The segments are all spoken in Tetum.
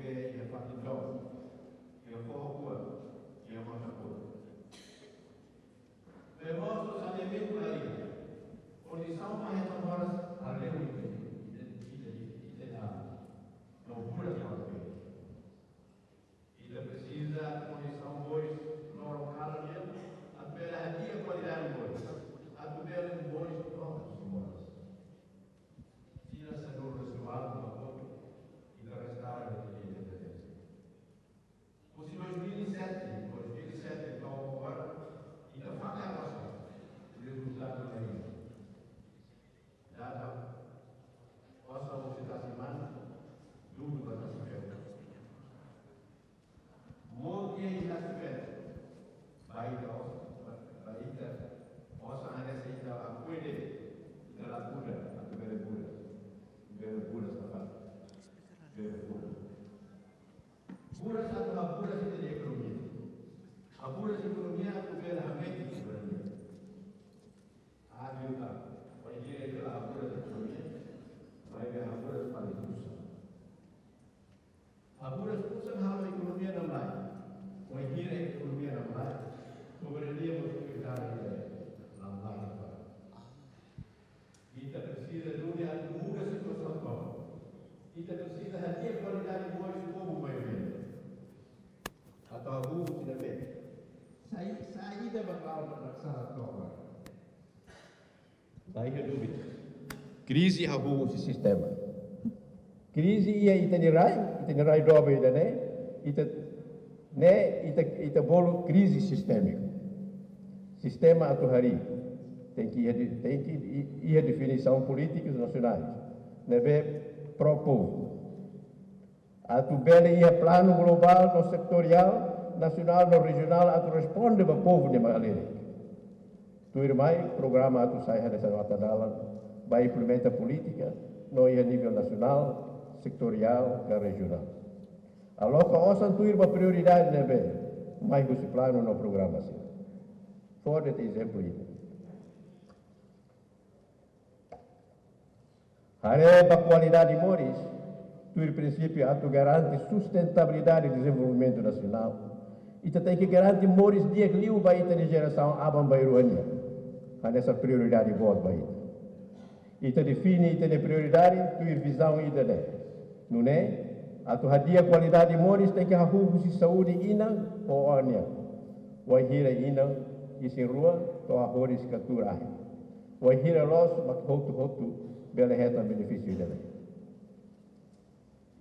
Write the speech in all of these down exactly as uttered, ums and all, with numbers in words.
iha fatin dook, iha foho kuak, iha mota kuak. Bee mosu saneamentu la iha. Kondisaun para hetan moras hale'u ita, ita, ita, ita, ita, no buras para bee. Ita presiza kondisaun boot, loron kalan nian, atu bele hadi'a kualidade moris, atu bele moris to'o moras. Tinan sanulu-resin-ualu ba kotuk, ita restaura ita independénsia. Husi dois mil e sete, dois mil e sete to'o agora, ita fakar osan, rezultadu la iha. Dada, osan husi tasi-matan, dudu ba tasi-feto. Mout iha iha tasi-feto. Ba ita osan, ba, ba ita osan hanesan ita akui de'it, ita la kuda, atu bele buras. Bele buras, sapa? Bele buras. Buras atu haburas ita-nia ekonomia. Haburas ekonomia atu bele hametin soberania. Atu ka, wainhira ita la haburas ekonomia, maibé haburas fali pusan. Haburas pusan halo ekonomia namlaik. Wainhira ekonomia namlaik, soberania mós fiar ita namlaik. Ita presiza duni atu muda situasaun tomak. Ita presiza hadi'a kualidade moris povu maioria. Atu hahú husi ne'ebé? Sai, saida mak la'o ba sala tomak? La iha dúvida. Krize hahú husi sistema. Krize iha ita-nia rai, ita-nia rai doben ida-ne'e, ita, ne'e, ita, ita bolu krize sistémiku. Sistema atu harii. Tenke iha de-, tenke i-, iha definisaun polítikas nasionais ne'ebé pró-povu. Atu bele iha planu globál no setoriál, nasionál no rejionál atu responde ba povu nia malere. Tuirmai programa atu sai hanesan nota dalan ba implementa polítika no iha nivel nasionál, setoriál ka rejionál. Aloka osan tuir ba prioridade ne'ebé mai husi planu no programa sira. Fó de'it ezemplu ida. Haree ba kualidade moris, tuir prinsípiu atu garante sustentabilidade dezenvolvimentu nasionál. Ita tenke garante moris di'ak liu ba ita-nia jerasaun aban-bainrua nian. Hanesan prioridade boot ba ita. Ita define ita-nia prioridade tuir vizaun ida-ne'e. Nune'e, atu hadi'a kualidade moris tenke hahú husi saúde inan ho oan nian. Wainhira inan isin-rua to'o hahoris ka tuur ahi. Wainhira loos mak hotu-hotu bele hetan benefísiu ida-ne'e.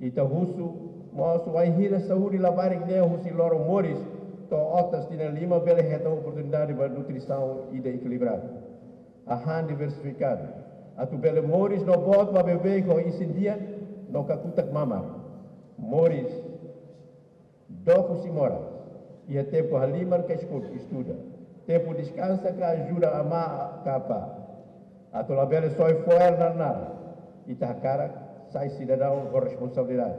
Ita husu mós wainhira saúde labarik ne'e husi loron moris to'o otas tinan lima bele hetan oportunidade ba nutrisaun ida ekilibradu, hahán diversifikadu, atu bele moris no boot ba beibeik ho isin di'ak no kakutak mamar. Moris dook husi moras, iha tempu halimar ka eskola, estuda, tempu deskansa ka ajuda amá ka apá. Atu labele soe fo'er naran-naran, ita hakarak sai sidadaun ho responsabilidade.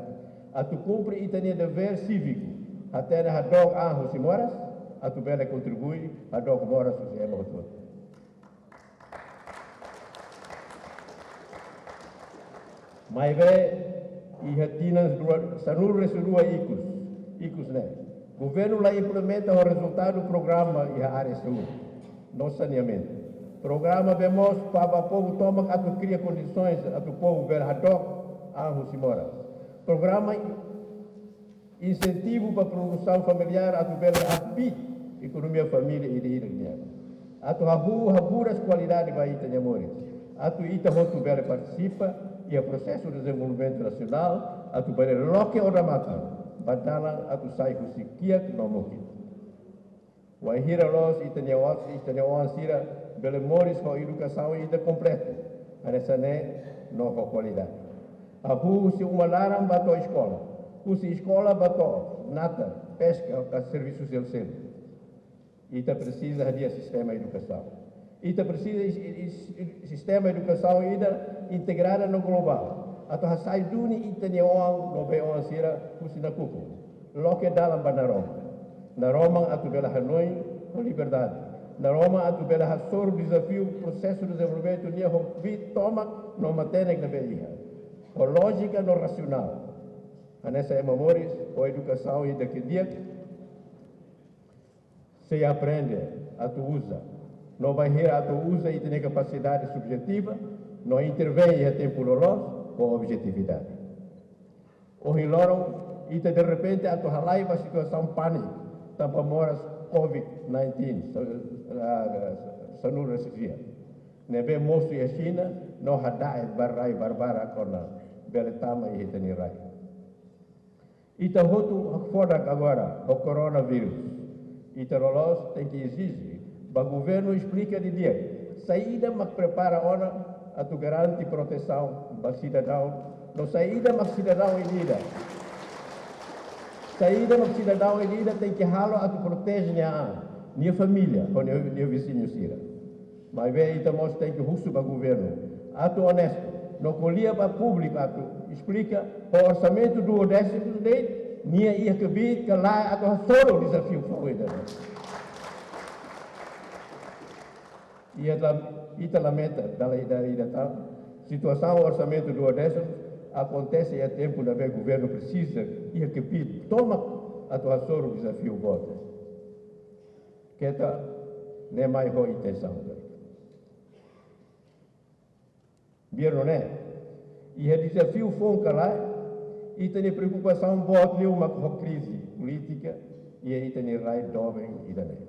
Atu kumpre ita-nia devér síviku, hatene hadook an husi moras, atu bele kontribui hadook moras husi ema hotu-hotu. Maibé, iha tinan rua, sanulu-resin-rua ikus, ikus ne'e, governu la implementa ho rezultadu programa iha área saúde no saneamentu. Programa bee mosu ba povu tomak atu kria kondisoens atu povu bele hadook an husi moras. Programa insentivu ba produsaun familiár atu bele habiit ekonomia família ida-idak nian. Atu hahú haburas kualidade ba ita-nia moris. Atu ita hotu bele partisipa iha prosesu dezenvolvimentu nasionál, atu bele loke odamatan ba dalan atu sai husi kiak no mukit. Wainhira loos ita-nia oan, ita-nia oan sira bele moris ho edukasaun ida kompletu, hanesan ne'e no ho kualidade. Hahú husi uma laran ba to'o eskola, husi eskola ba to'o natar, peska ka servisu seluk-seluk. Ita presiza hadi'a sistema edukasaun. Ita presiza is-, is-, is-, sistema edukasaun ida integrada no globál. Atu hasai duni ita-nia oan no bei-oan sira husi nakukun. Loke dalan ba naroman. Naroman atu bele hanoin ho liberdade. Naroman atu bele hasoru dezafiu prosesu dezenvolvimentu nian ho kbiit tomak no matenek ne'ebé iha. Ho lójika no rasionál. Hanesan ema moris ho edukasaun ida ke di'ak, sei aprende atu uza. No bainhira atu uza ita-nia kapasidade subjetiva, no intervein iha tempu loloos ho objetividade. Ohin loron, ita derrepente atu halai ba situasaun pániku, tanba moras covid nineteen, sa-, ah, sanulu-resin-sia. Ne'ebé mosu iha Xina, no hada'et ba rai barbarak ona bele tama iha ita-nia rai. Ita hotu hakfodak agora ho koronavírus. Ita loloos tenke ezije ba governu esplika didi'ak saida mak prepara ona atu garante protesaun ba sidadaun, no saida mak sidadaun ida-idak, saida mak sidadaun ida-idak tenke halo atu proteje nia an, nia família, ho nia, nia viziñu sira. Maibé ita mós tenke husu ba governu atu onestu, no ko'alia ba públiku atu esplika, ho orsamentu duodésimu de'it, nia iha kbiit ka lae atu hasoru dezafiu foun ida-ne'e. Ita la-, ita lamenta, dala ida, ida tan, situasaun orsamentu duodésimu akontese iha tempu ne'ebé governu presiza iha kbiit tomak atu hasoru dezafiu boot. Keta ne'e mai ho intensaun. Biar nune'e, iha dezafiu foun ka lae, ita-nia preokupasaun boot liu mak ho krize polítika iha ita-nia rai doben ida-ne'e.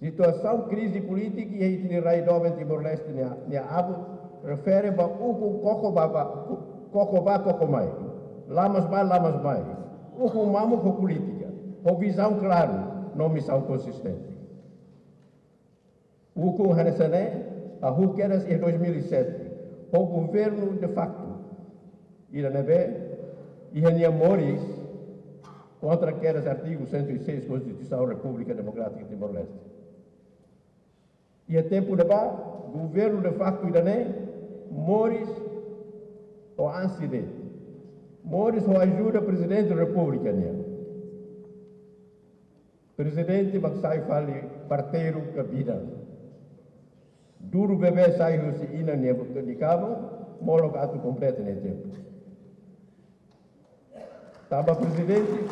Situasaun krize polítika iha ita-nia rai doben Timor-Leste nia, nia abut refere ba ukun koko ba, ba, koko ba, koko mai. Lamas ba, lamas mai. Ukun mamuk ho polítika, ho vizaun klaru, no misaun konsistente. Ukun hanesan ne'e hahú kedas iha dois mil e sete, ho governu de facto, ida ne'ebé iha nia moris kontra kedas artigu cento e seis Konstituisaun Repúblika Demokrátika Timor-Leste. Iha tempu ne'ebá, governu de facto ida-ne'e moris ho ansi de'it, moris ho ajuda Prezidente Repúblika nian. Prezidente mak sai fali parteiru ka bidan. Duru bebé sai husi inan nia boka di kabu, molok atu kompleta nia tempu. Tanba Prezidente,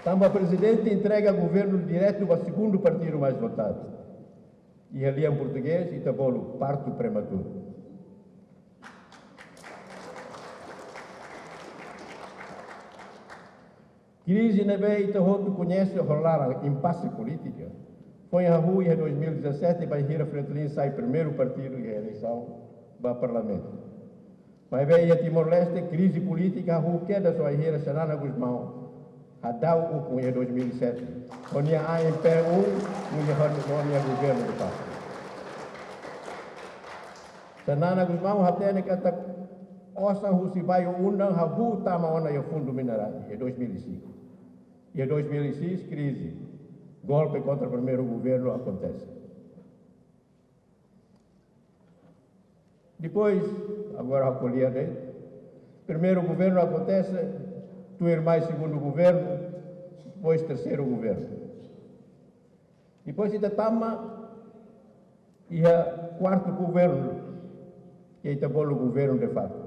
tanba Prezidente entrega governu diretu ba segundu partidu mais votadu. Iha lian portugés, ita bolu partu prematuru. Krize ne'ebé ita hotu koñese ho laran impase polítika, foin hahú iha dois mil e dezassete, bainhira Fretilin sai primeiru partidu iha eleisaun ba parlamentu. Maibé iha Timor-Leste, krize polítika hahú kedas bainhira Xanana Gusmão hadau ukun iha dois mil e sete, ho nia A M P um, nia ho nia governu de facto. Xanana Gusmão hatene katak osan husi bairru Undang hahú tama ona iha fundu mineráriu iha dois mil e cinco. Iha dois mil e seis, krize, golpe kontra primeiru governu akontese. Depois, agora ha'u ko'alia de'it, primeiru governu akontese, tuirmai segundu governu, depois terseiru governu. Depois ita tama iha kuartu governu, ke ita bolu governu de facto.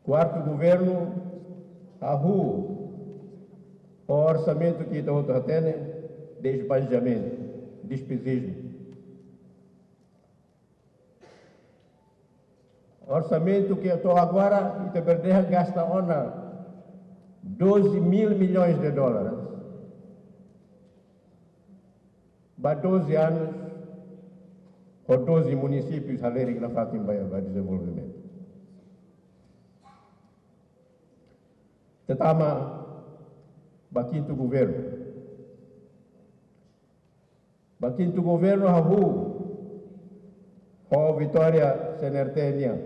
Kuartu governu hahú ho orsamentu ke ita hotu hatene, desbanjamentu, despejismu. Orsamentu ke to'o agora ita bele dehan gasta ona doze mil milhões de dólares. Ba doze anos, ho doze munisípius halerik nafatin ba, ba dezenvolvimentu. Ita tama ba kintu governu. Ba kintu governu hahú ho vitória C N R T nian.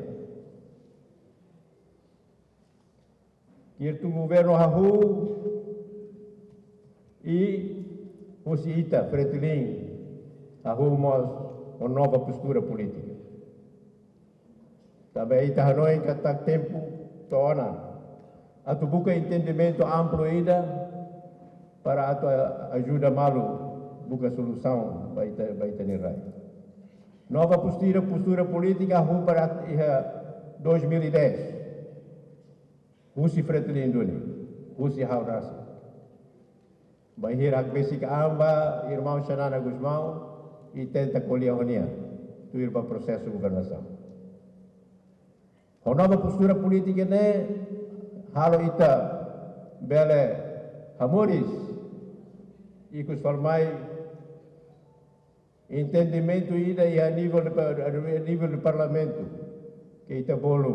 Kintu governu hahú i husi ita, Fretilin, hahú mós ho nova postura polítika. Tanba ita hanoin katak tempu to'o ona atu buka entendimentu amplu ida para atu a-, ajuda malu buka solusaun ba ita, ba ita-nia rai. Nova postura, postura polítika hahú para iha dois mil e dez, husi Fretilin duni, husi ha'u rasik. Bainhira hakbesik an ba irmaun Xanana Gusmão, i tenta ko'alia ho nia, tuir ba prosesu governasaun. Ho nova postura polítika ne'e, halo ita bele hamoris, ikus fali mai, entendimentu ida iha nivel de pa-, nivel de parlamentu, ke ita bolu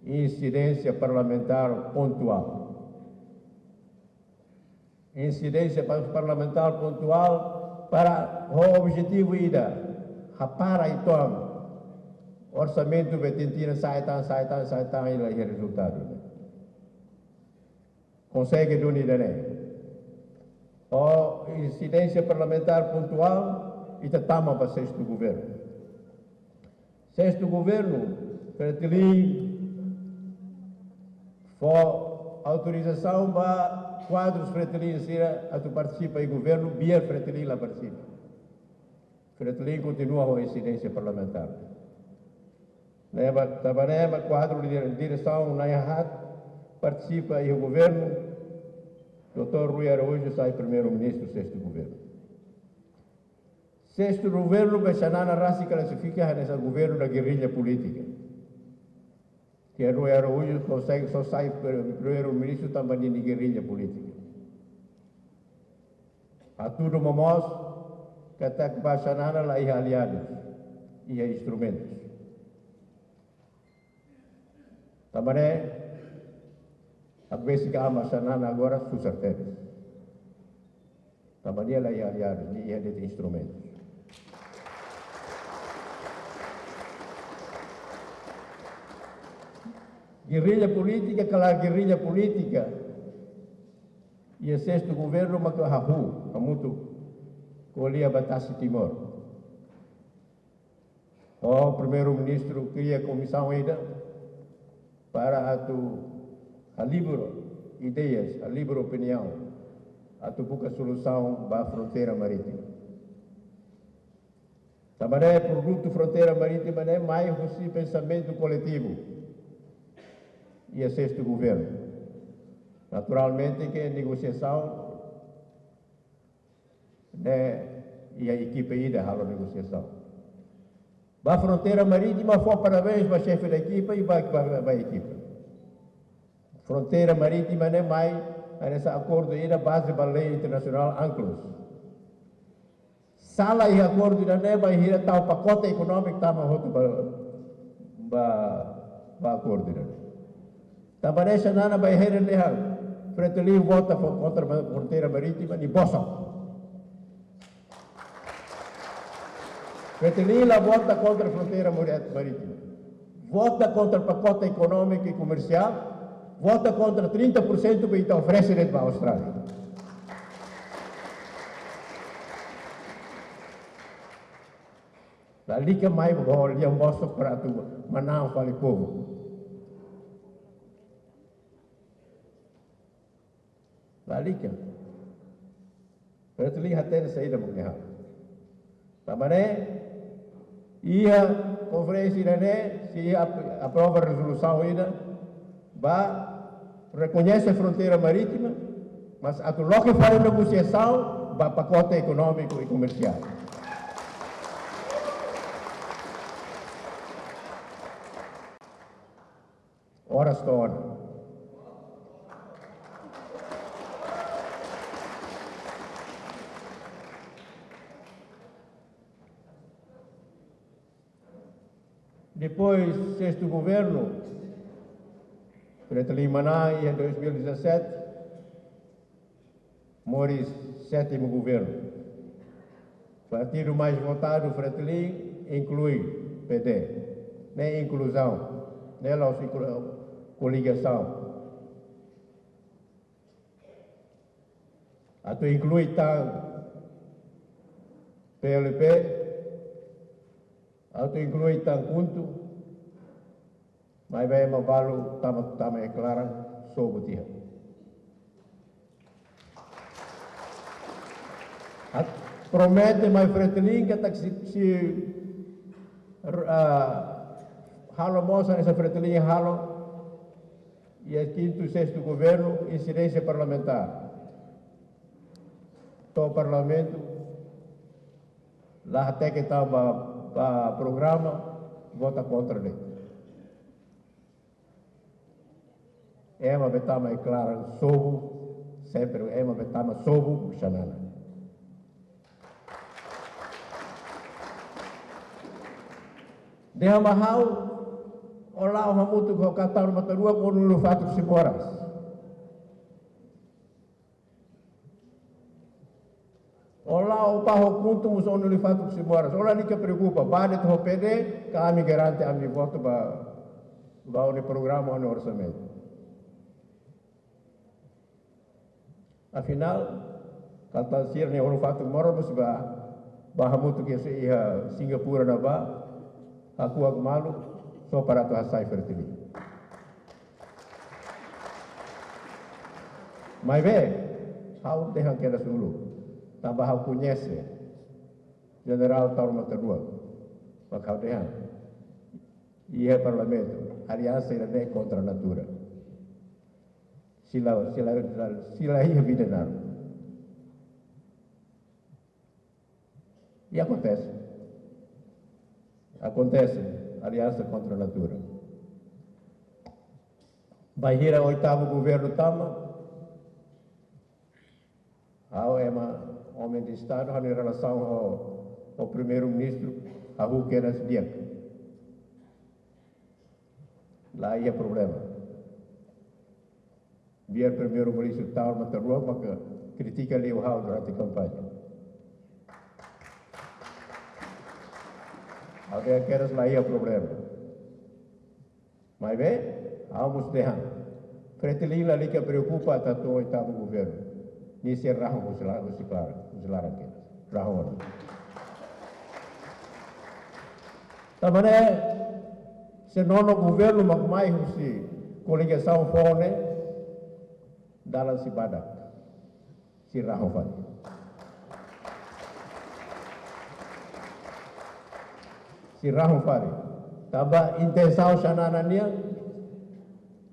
insidénsia parlamentár pontuál. Insidénsia pa-, parlamentár pontuál para ho objetivu ida, hapara uitoan orsamentu be tintina sa'e tan, sa'e tan, sa'e tan, i la iha rezultadu. Konsege duni ida-ne'e. Ho insidénsia parlamentár pontuál, ita tama ba sestu governu. Sestu governu, Fretilin fó autorizasaun ba kuadrus Fretilin sira atu partisipa iha governu, biar Fretilin la partisipa. Fretilin kontinua ho insidénsia parlamentár. Ne'ebé, tanba ne'e mak kuadru de diresaun na'in-haat partisipa iha governu, doutór Rui Araújo sai primeiru-ministru sestu governu. Sestu governu be Xanana rasik klasifika hanesan governu da gerrilla polítika. Ke Rui Araújo só sai, só sai primeiru-ministru tanba nia gerrilla polítika. Hatudu momoos katak ba Xanana la iha aliadus, iha instrumentus. Tanba ne'e, hakbesik an ba Xanana agora susar tebes. Tanba nia la iha aliadus, nia iha de'it instrumentus. Gerrilla polítika, kala gerrilla polítika. Iha sestu governu mak hahú, hamutuk ko'alia ba Tasi Timor. Ho primeiru-ministru kria komisaun ida para atu halibur ideias, halibur opiniaun, atu buka solusaun ba fronteira marítima. Tanba ne'e produtu fronteira marítima ne'e mai husi pensamentu koletivu iha sestu governu. Naturalmente ke negosiasaun ne'e iha ekipa ida halo negosiasaun. Ba fronteira marítima fó parabéns ba xefe da ekipa i ba, ba, ba ekipa. Fronteira marítima ne'e mai hanesan akordu ida baze ba lei internasionál UNCLOS. Sala iha akordu ida-ne'e bainhira tau pakote ekonómiku tama hotu ba, ba, ba akordu ida-ne'e. Tanba ne'e Xanana bainhira ne'e hal, Fretilin vota fo-, kontra ma-, fronteira marítima, nia bosok. Fretilin la vota kontra fronteira mari-, marítima. Vota kontra pakote ekonómiku i komersiál, vota kontra trinta por cento be ita oferese de'it ba Austrália. Lalika mai ba ho lian bosok para atu manán fali povu. Lalika. Fretilin hatene saida mak nia halo. Tanba ne'e, iha konferénsia ida-ne'e, sei ap-, aprova rezolusaun ida, ba rekoñese fronteira marítima, mas atu loke fali negosiasaun ba pakote ekonómiku i komersiál. Oras to'o ona. Depois, sestu governu, Fretilin manán iha dois mil e dezassete, moris sétimu governu. Partidu mais votadu, Fretilin, inklui P D. Ne'e inkluzaun, ne'e la'ós inklu-, koligasaun. Atu inklui tan P L P, atu inklui tan KHUNTO, maibé ema balu tama, tama iha klaran, sobu tiha. Atu promete mai Fretilin katak se, se, ah, Halo mós hanesan Fretilin halo iha kintu, sestu governu, insidénsia parlamentár. To'o Parlamentu, la hateke tan ba, ba programa, vota kontra de'it. Ema be tama iha klaran sobu, sempre ema be tama sobu, Xanana. Dehan ba ha'u, ó la'o hamutuk ho Taur Matan Ruak, ó-nia ulun-fatuk sei moras. Ó la'o bá ho KHUNTO mós, ó-nia ulun-fatuk sei moras. Ó lalika preokupa, bá de'it ho PD, ka ami garante ami votu ba, ba ó-nia programa, ó-nia orsamentu. Afinál, kal tan sira-nia ulun-fatuk moras mós bá, bá hamutuk iha, iha Singapura ne'ebá, hakuak malu, só para atu hasai Fretilin. Maibé, ha'u dehan kedas uluk, tanba ha'u koñese Jenerál Taur Matan Ruak, mak ha'u dehan iha Parlamentu, aliansa ida-ne'e kontra natura. Sei la, sei la, sei la iha vida naruk. I akontese. Akontese, aliansa kontra natura. Bainhira oitavu governu tama, ha'u ema, omen de Estadu, ha'u-nia relasaun ho, ho Primeiru-Ministru, hahú kedas di'ak. La iha problema. Biar Primeiru-Ministru Taur Matan Ruak maka kritika liu ha'u durante kampaña. Ha'u dehan kedas la iha problema. Maibé, ha'u mós dehan, Fretilin lalika preokupa atu tau oitavu governu. Nia sei rahun husi la-, husi klaran, husi laran kedas. Rahun ona. Tanba ne'e, se nono governu mak mai husi koligasaun foun ne'e, dalan sei badak, sei rahun fali. Sei rahun fali. Tanba intensaun Xanana nian,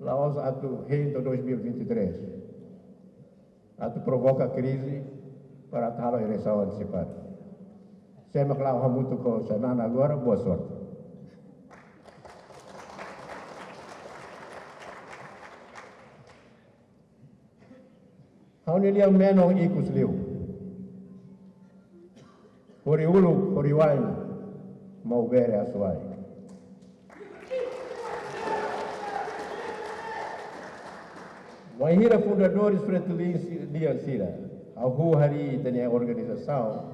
la'ós atu hein to'o dois mil e vinte e três. Atu provoka krize para atu halo eleisaun antesipada. Sé mak la'o hamutuk ho Xanana agora, boa sorte. Ha'u-nia lian menon ikus liu. Hori uluk, hori wa'in, Maubere Asuwai. Wainhira fundadores Fretilin si-, nian sira hahú harii ita-nia organizasaun,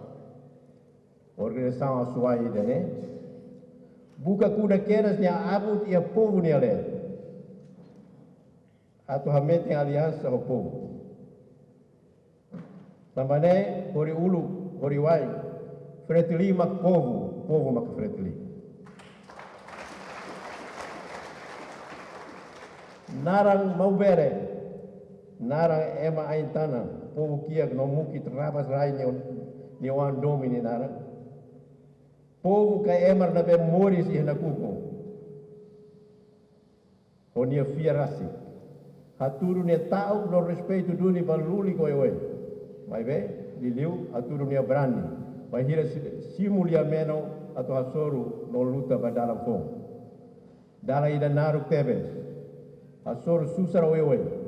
organizasaun Asuwai ida-ne'e, buka kuda kedas nia abut iha povu nia leet. Atu hametin aliansa ho povu. Tanba ne'e, hori uluk, hori wa'in, Fretilin mak povu, povu mak Fretilin. Naran Maubere, naran ema ain-tanan, povu kiak no mukit rabas rai nia, nia oan domin nia naran. Povu ka ema ne'ebé moris iha nakukun. Ho nia fiar rasik. Hatudu nia ta'uk no respeitu duni ba lulik oioin. Maibé, liuliu, hatudu nia brani. Bainhira si-, simu lia menon atu hasoru no luta ba dalan foun. Dalan ida naruk tebes. Hasoru susar oioin.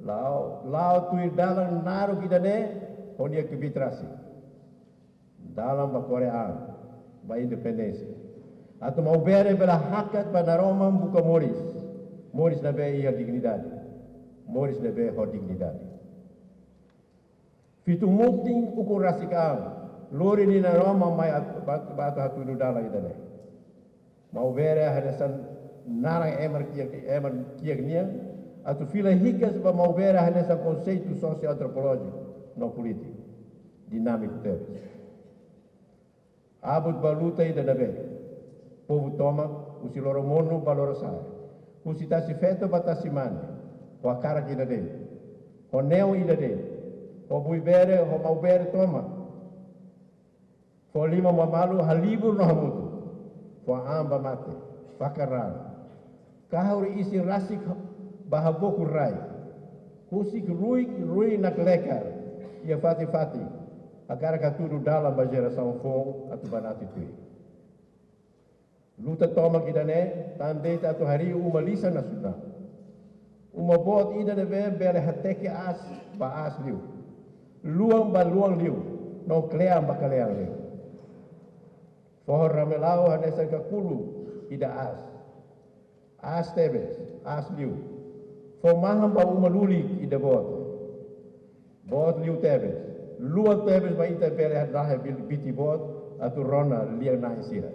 La'o, la'o tuir dalan naruk ida-ne'e, ho nia kbiit rasik. Dalan ba Korea, ba independénsia. Atu Maubere bele hakat ba naroman buka moris. Moris ne'ebé iha dignidade. Moris ne'ebé ho dignidade. Fitu mutin ukun rasik an, lori nia naroman mai at-, ba, ba atu hatudu dalan ida-ne'e. Maubere hanesan naran ema kiak, ema kiak nian, atu fila hikas ba Maubere hanesan konseitu sosioantropolójiku no polítiku. Dinámiku tebes. Abut ba luta ida ne'ebé povu tomak, husi Loromonu ba Lorosa'e, husi Tasi Feto ba Tasi Mane, ho hakarak ida de'it, ho neon ida de'it, ho Buibere, ho Maubere tomak. Fó liman ba malu, halibur no hamutuk. Fó an ba mate. fakar raan. Kahur isin rasik ba habokur rai. Husik ruik-ruin naklekar iha fatin-fatin. Hakarak hatudu dalan ba jerasaun foun atu banati tuir. Luta tomak ida-ne'e tan de'it atu harii uma lisan nasionál. Uma boot ida ne'ebé bele hateke aas ba aas liu, luan ba luan liu, no kle'an ba kle'an liu. Foho Ramelau hanesan kakulu ida aas. Aas tebes, aas liu. Fó mahon ba uma lulik ida boot. Boot liu tebes. Luan tebes ba ita bele lahe bil-, biti boot atu rona lia-na'in sira.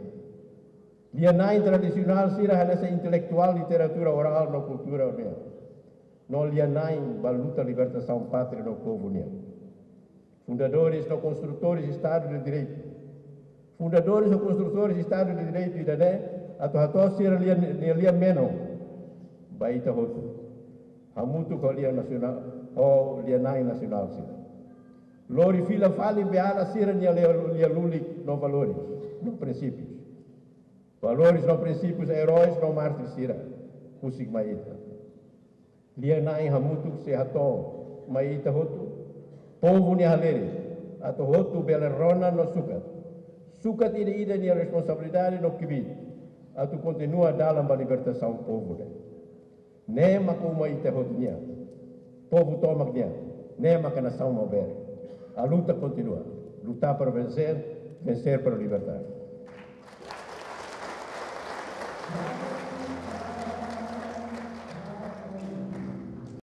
Lia-na'in tradisionál sira hanesan intelektuál literatura orál no kultura nian. No lia-na'in ba luta libertasaun pátria no povu nian. Fundadores no konstrutores Estadu de Direitu. Fundadores no konstrutores Estadu de Direitu ida-ne'e atu hato'o sira lia, lia, lia menon ba ita hotu. Hamutuk ho lia nasionál, ho lia-na'in nasionál sira. Lori fila fali ba ala sira-nia lia, lia lulik no valores, no prinsípius. Valores no prinsípius eróis no mártir sira husik mai ita. Lia-na'in hamutuk sei hato'o mai ita hotu, povu nia halerik, atu hotu bele rona no sukat. Sukat ida-idak nia responsabilidade no kbiit atu kontinua dalan ba libertasaun povu ne'e. Ne'e maka uma ita hotu nian, povu tomak nian, ne'e maka nasaun maubere. A luta continua. Lutar para vencer, vencer para libertar.